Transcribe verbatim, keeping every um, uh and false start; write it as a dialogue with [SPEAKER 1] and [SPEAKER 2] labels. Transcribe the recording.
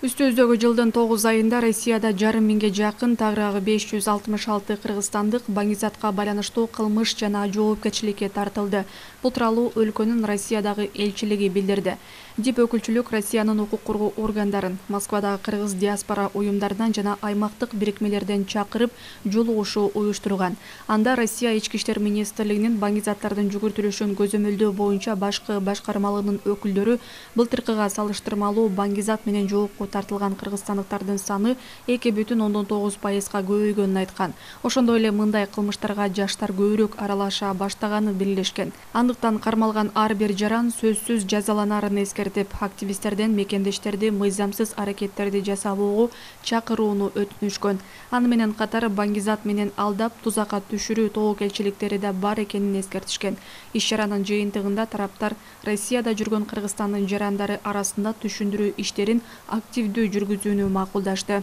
[SPEAKER 1] Үстүбүздөгү жылдын тогуз айында Россияда жарым миңге жакын, тагыраагы беш жүз алтымыш алты кыргызстандык баңгизатка байланыштуу кылмыш жана жоопкерчиликке тартылды. Бул тууралуу өлкөнүн Россиядагы элчилиги билдирди. Дип өкүлчүлүк Россиянын укук коргоо органдарын, Москвадагы кыргыз диаспора уюмдарынан жана аймактык бирикмелерден чакырып жолугушуу уюштурган. Анда Россия Ички иштер министрлигинин баңгизаттардын жүгүртүлүшүн көзөмөлдөө боюнча башкы башкармалыгынын өкүлдөрү былтыркыга салыштырмалуу баңгизат менен жоопко тартылган кыргызстандыктардын саны эки бүтүн ондон тогуз пайызга көбөйгөнүн айткан. Ошондой эле мындай кылмыштарга жаштар көбүрөөк аралаша баштаганын белгилешкен. Андыктан кармалган ар бир жаран сөзсүз жазаланарын эскертип, активисттерден мекендештерди мыйзамсыз аракеттерди жасабоого чакырууну өтүнүшкөн. Аны менен катар баңгизат менен алдап, тузакка түшүрүү тобокелчиликтери да бар экенин эскертишкен. Иш-чаранын жыйынтыгында тараптар Россияда жүргөн Кыргызстандын жарандары арасында түшүндүрүү иштерин активдүү жүргүзүүнү макулдашты.